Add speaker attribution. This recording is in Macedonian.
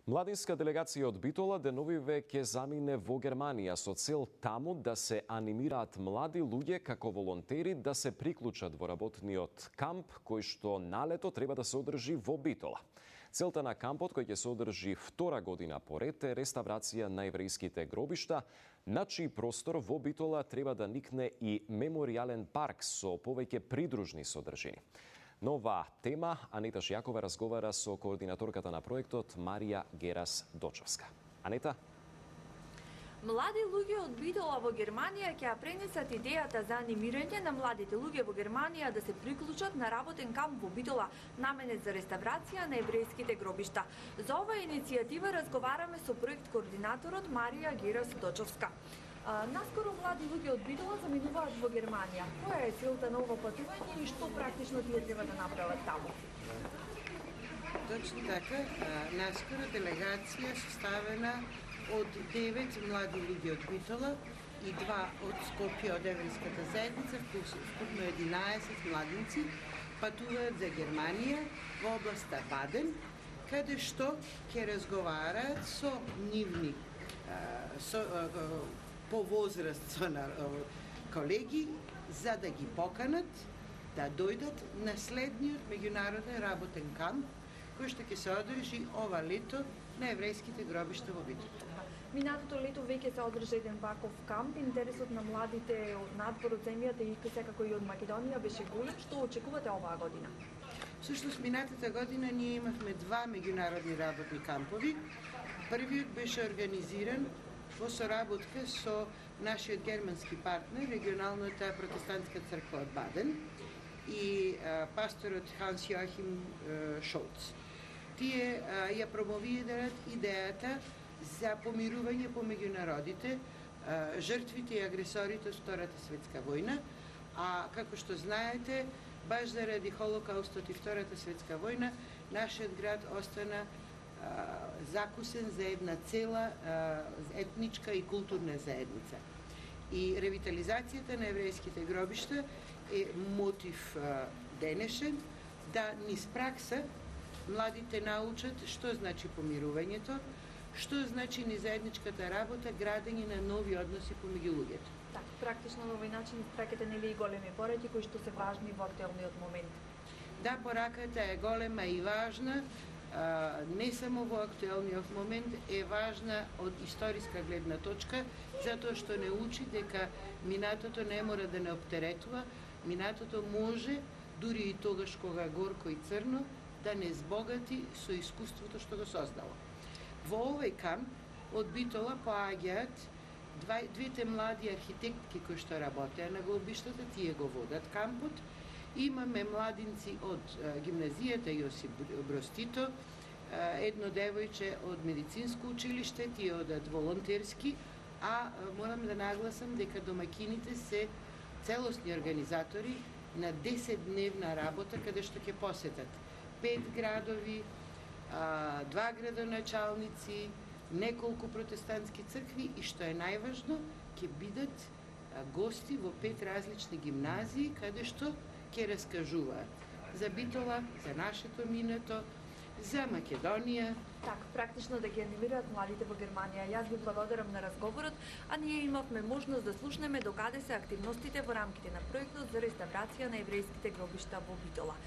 Speaker 1: Младинска делегација од Битола деновиве ќе замине во Германија со цел таму да се анимираат млади луѓе како волонтери да се приклучат во работниот камп кој што налето треба да се одржи во Битола. Целта на кампот кој ќе се одржи втора година поред е реставрација на еврејските гробишта, на чиј простор во Битола треба да никне и меморијален парк со повеќе придружни содржини. На оваа тема Анета Шијакова разговара со координаторката на проектот Марија Герас Дочовска. Анета?
Speaker 2: Млади луѓе од Битола во Германија ќе ја пренесат идејата за анимирање на младите луѓе во Германија да се приклучат на работен камп во Битола, наменет за реставрација на еврејските гробишта. За оваа иницијатива разговараме со проект координаторот Марија Герас Дочовска. Наскоро млади луѓе од Битола заминуваат во Германија. Која е целта на ова патување и што практично тие треба да направат таму?
Speaker 3: Точно така, наскоро делегација составена од 9 млади луѓе од Битола и 2 од Скопје од еврејската заедница, вкупно 11 младинци, патуваат за Германија во областа Баден, каде што ќе разговараат со нивни по возраст со колеги за да ги поканат да дојдат на следниот меѓународен работен камп кој што ќе се одржи ова лето на еврејските гробишта во Битола.
Speaker 2: Минатото лето веќе се одржа еден ваков камп. Интересот на младите од надвор од земјата и секако и од Македонија беше голем. Што очекувате оваа година?
Speaker 3: Всушност, минатата година ние имавме 2 меѓународни работни кампови. Првиот беше организиран во соработка со нашиот германски партнер, регионалната протестантска црква од Баден и пасторот Ханс Йоахим Шолц. Тие ја промовираат идејата за помирување помеѓу народите, жртвите и агресорите од Втората светска војна, а како што знаете, баш заради Холокаустот и Втората светска војна, нашиот град остана закусен за една цела етничка и културна заедница. И ревитализацијата на еврејските гробишта е мотив денешен да низ пракса младите научат што значи помирувањето, што значи ни заедничката работа, градење на нови односи помеѓу луѓето.
Speaker 2: Така, практично на овој начин испраќате нели и големи пораки кои што се важни во актуелниот момент.
Speaker 3: Да, пораката е голема и важна. Не само во актуелниот момент, е важна од историска гледна точка, затоа што не учи дека минатото не мора да не оптеретува, минатото може, дури и тогаш кога горко и црно, да не збогати со искуството што го создало. Во овој камп од Битола поаѓаат двете млади архитектки кои што работеа на гробиштата, тие го водат кампот. Имаме младинци од гимназијата Јосип Броз Тито, едно девојче од медицинско училиште, тие одат волонтерски, а морам да нагласам дека домакините се целосни организатори на 10-дневна работа каде што ќе посетат 5 градови, 2 градоначалници, неколку протестантски цркви и што е најважно, ќе бидат гости во 5 различни гимназии каде што ќе раскажуваат за Битола, за нашето минато, за Македонија.
Speaker 2: Така, практично да ги анимираат младите во Германија. Јас ви благодарам на разговорот, а ние имавме можност да слушнеме докаде се активностите во рамките на проектот за реставрација на еврејските гробишта во Битола.